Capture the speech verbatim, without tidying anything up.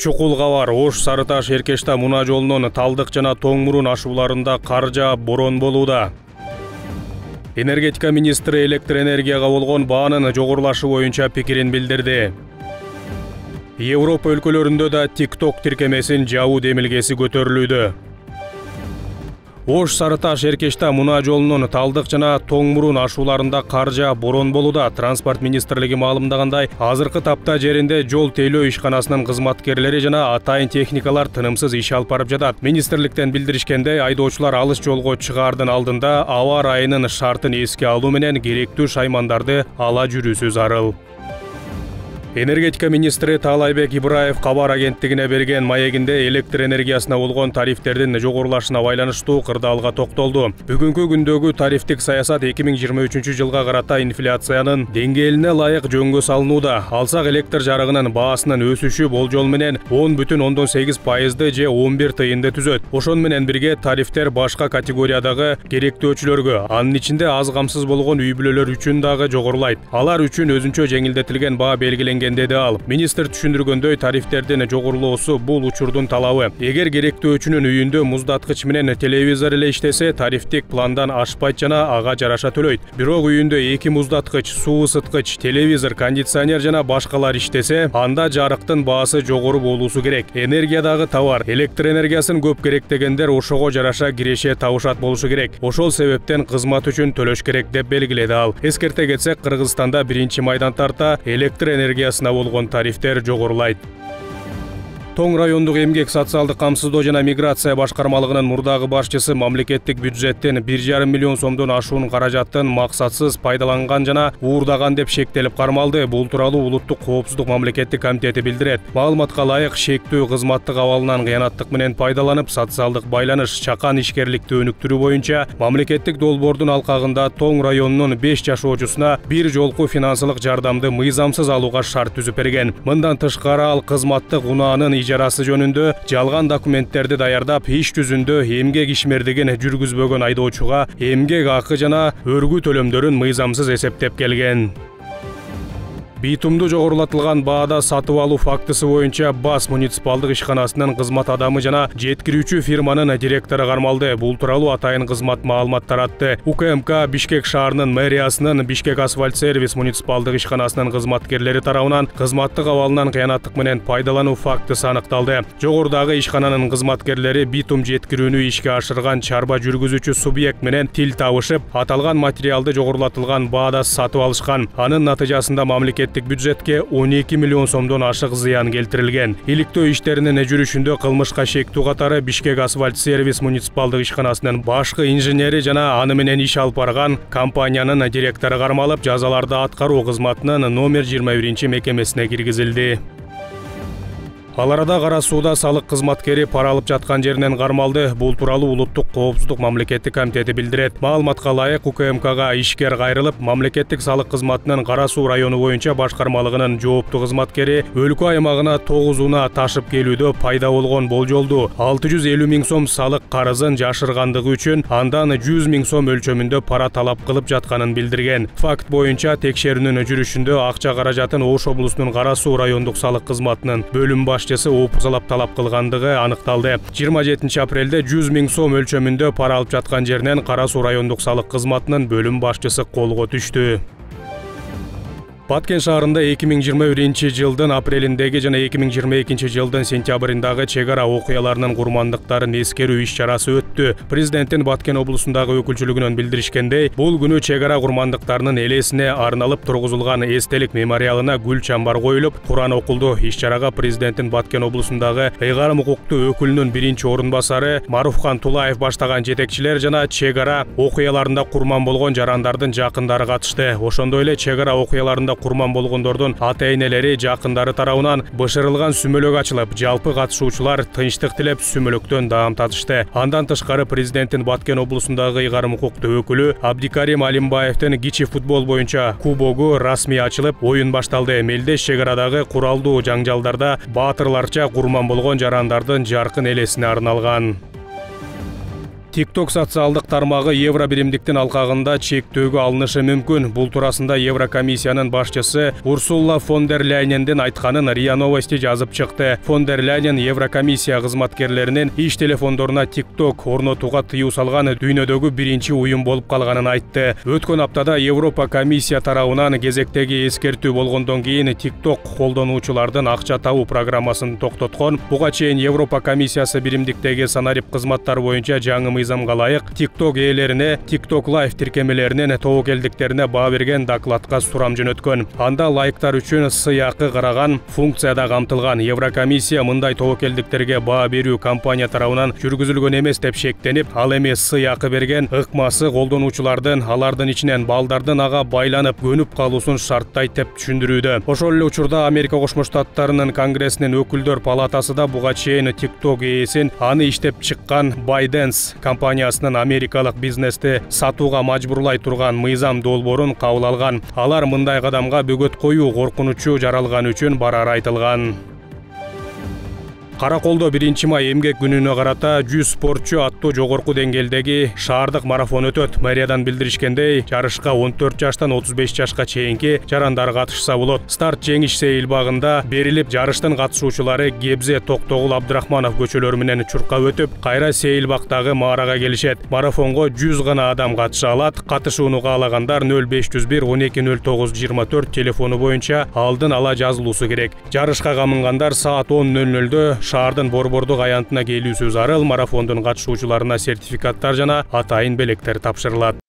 Чукул кабар. Ош Сары Таш Эркештам унаа жолунун Талдык жана Тоң Мурун ашууларында кар жаап, борон болууда. Энергетика министри электр энергияга болгон баанын жогорулашы боюнча пикирин билдирди. Европа өлкөлөрүндө да TikTok тиркемесин жабуу демилгеси көтөрүлүүдө. Ош Сары Таш Эркештам унаа жолунун Талдык жана Тоң Мурун ашууларында кар жаап, борон болууда. Транспорт министрлиги маалымдагандай, азыркы тапта жеринде жол тейлөө ишканасынын кызматкерлери жана атайын техникалар тынымсыз иш алып барып жатат. Министрликтен билдиришкендей, айдоочулар алыс жолго чыгаардын алдында аба ырайынын шартын эске алуу менен керектүү шаймандарды ала жүрүүсү зарыл. Энергетика министри Таалайбек Ибраев кабар агенттигине берген маегинде электр энергиясына болгон тарифтердин жогорулашына байланыштуу кырдаалга токтолду. Бүгүнкү күндөгү тарифтик саясат эки миң жыйырма үчүнчү жылга карата инфляциянын деңгээлине ылайык жөнгө салынууда. Алсак электр жарыгынын баасынын өсүшү болжол менен он бүтүн ондон сегиз пайызды же он бир тыйынды түзөт. Ошон менен бирге тарифтер башка категориядагы керектөөчүлөргө, анын ичинде аз камсыз болгон үй бүлөлөр үчүн дагы жогорулайт. Алар үчүн өзүнчө жеңилдетилген баа белгиленген деди ал. Министр түшүндүргөндөй, тарифтердин жогорулоосу бул учурдун талабы. Эгер керектөөчүнүн үйүндө муздаткыч менен телевизор эле иштесе, тарифтик пландан ашпайт жана ага жараша төлөйт. Бирок үйүндө эки муздаткыч, суу ысыткыч, телевизор, кондиционер жана башкалар иштесе, анда жарыктын баасы жогору болуусу керек. Энергиядагы товар, электр энергиясын көп керектегендер ошого жараша киреше табышат болушу керек. Ошол себептен кызмат үчүн төлөш керек деп белгиледи ал. Эскерте кетсек, Кыргызстанда биринчи майдан тарта электр энергиясына болгон тарифтер жогорулайт. Тоң райондук эмгек, социалдык камсыздоо жана миграция башкармалыгынын мурдагы башчысы мамлекеттик бюджеттен бир жарым миллион сомдон ашуун каражаттын максатсыз пайдаланган жана уурдаган деп шектелип кармалды. Бул тууралуу Улуттук коопсуздук мамлекеттик комитети билдирет. Маалыматка ылайык, шектүү кызматтык абалынан кыянаттык менен пайдаланып, социалдык байланыш, чакан ишкерликти өнүктүрүү боюнча мамлекеттик долбоордун алкагында Тоң районунун беш жашоочусуна бир жолку финансылык жардамды мыйзамсыз алууга шарт түзүп берген. Мындан тышкары ал кызматтык унаанын ижарасы жөнүндө жалган документтерди даярдап, иш жүзүндө эмгек ишмердигин жүргүзбөгөн айдоочуга эмгек акы жана өргүү төлөмдөрүн мыйзамсыз эсептеп келген. Битумду жогорулатылган баада сатып алуу фактысы боюнча Бас муниципалдык ишканасынын кызмат адамы жана жеткирүүчү фирманын директору кармалды. Бул тууралуу атайын кызмат маалымат таратты. УКМК Бишкек шаарынын мэриясынын Бишкек асфальт сервис муниципалдык ишканасынын кызматкерлери тарабынан кызматтык абалынан кыянаттык менен пайдалануу фактысы аныкталды. Жогорудагы ишкананын кызматкерлери битум жеткирүүнү ишке ашырган чарба жүргүзүүчү субъект менен тил табышып, аталган материалды жогорулатылган баада сатып алышкан. Анын натыйжасында мамлекет бюджетке он эки миллион сомдон ашык зыян келтирилген. Иликтөө иштеринин жүрүшүндө кылмышка шектүү катары Бишкек асфальт сервис муниципалдык ишканасынын башкы инженери жана аны менен иш алып барган компаниянын директору кармалып, жазаларды аткаруу кызматынын номер жыйырма биринчи мекемесине киргизилди. Ал арада Кара сууда салык кызматкери пара алып жаткан жеринен кармалды. Бул тууралуу Улуттук коопсуздук мамлекеттик комитети билдирет. Маалыматка ылайык, УКМКга ишкер кайрылып, мамлекеттик салык кызматынын Кара суу району боюнча башкармалыгынын жооптуу кызматкери өлкө аймагына тогуз унаа ташып келүүдө пайда болгон болжолду алты жүз элүү миң сом салык карызын жашыргандыгы үчүн андан жүз миң сом өлчөмүндө пара талап кылып жатканын билдирген. Факт боюнча текшерүүнүн жүрүшүндө акча каражатын Ош облусунун Кара суу райондук салык кызматынын бөлүм башчысы опузалап талап кылгандыгы аныкталды. жыйырма жетинчи апрелде жүз миң сом өлчөмүндө пара алып жаткан жеринен Кара суу райондук салык кызматынын бөлүм башчысы колго түштү. Баткен шаарында эки миң жыйырма биринчи жылдын апрелиндеги жана эки миң жыйырма экинчи жылдын сентябрындагы чек ара окуяларынын курмандыктарын эскерүү иш чарасы өттү. Президенттин Баткен облусундагы өкүлчүлүгүнөн билдиришкендей, бул күнү чек ара курмандыктарынын элесине арналып тургузулган эстелик мемориалына гүл чамбар коюлуп, Куран окулду. Иш чарага президенттин Баткен облусундагы ыйгарым укуктуу өкүлүнүн биринчи орун басары Маруфхан Тулаев баштаган жетекчилер жана чек ара окуяларында курман болгон жарандардын жакындары катышты. Ошондой эле чек ара окуяларында курман болгондордун ата-энелери, жакындары тарабынан бышырылган сүмөлөк ачылып, жалпы катышуучулар тынчтык тилеп сүмөлөктөн даам татышты. Андан тышкары президенттин Баткен облусундагы ыйгарым укуктуу өкүлү Абдикарим Алимбаевдин кичи футбол боюнча кубогу расмий ачылып, оюн башталды. Мелдеш чек арадагы куралдуу жаңжалдарда баатырларча курман болгон жарандардын жаркын элесине арналган. TikTok социалдык тармагы евро биримдиктин алкагында чектөөгө алынышы мүмкүн. Бул туурасында Еврокомиссиянын башчысы Урсула фон дер Ляйнендин айтканын РИА Новости жазып чыкты. Фон дер Ляйнен Еврокомиссия кызматкерлеринин иш телефондоруна TikTok орнотууга тыюу салган дүйнөдөгү биринчи уюм болуп калганын айтты. Өткөн аптада Европа комиссия тарабынан кезектеги эскертүү болгондон кийин TikTok колдонуучулардын акча табуу программасын токтоткон. Буга чейин Европа комиссиясы биримдиктеги санарип кызматтар боюнча жаңы мыйзамга ылайык TikTok ээлерине TikTok Live тиркемелеринин тобокелдиктерине баа берген докладка сурам жөнөткөн. Анда лайктар үчүн сыйакы караган функцияда камтылган. Еврокомиссия мындай тобокелдиктерге баа берүү компания тарабынан жүргүзүлгөн эмес деп шектенип, ал эми сыйакы берген ыкмасы колдонуучулардын алардын ичинен балдардын ага байланып көнүп калуусун шарттайт деп түшүндүрүүдө. Ошол эле учурда Америка Кошмо Штаттарынын Конгрессинин өкүлдөр палатасы да буга чейин TikTok ээсин аны иштеп чыккан ByteDance компаниясынын америкалык бизнести сатууга мажбурлай турган мыйзам долбоорун кабыл алган. Алар мындай кадамга бөгөт коюу коркунучу жаралган үчүн барары айтылган. Караколдо биринчи май эмгек күнүнө карата жүз спортчу аттуу жогорку деңгээлдеги шаардык марафон өтөт. Мэриядан билдиришкендей, жарышка он төрт жаштан отуз беш жашка чейинки жарандар катышса болот. Старт Жеңиш Сейил багында берилип, жарыштын катышуучулары Гебзе Токтогул Абдрахманов көчөлөрү менен чуркап өтүп, кайра Сейил бактагы маарага келишет. Марафонго жүз гана адам катыша алат. Катышууну каалагандар нөл беш жүз бир он эки нөл тогуз жыйырма төрт телефону боюнча алдын ала жазылуусу керек. Жарышка камынгандар саат он нөл нөлдө шаардын борбордук аянтына келүүсү зарыл. Марафондун катышуучуларына сертификаттар жана атайын белектер тапшырылат.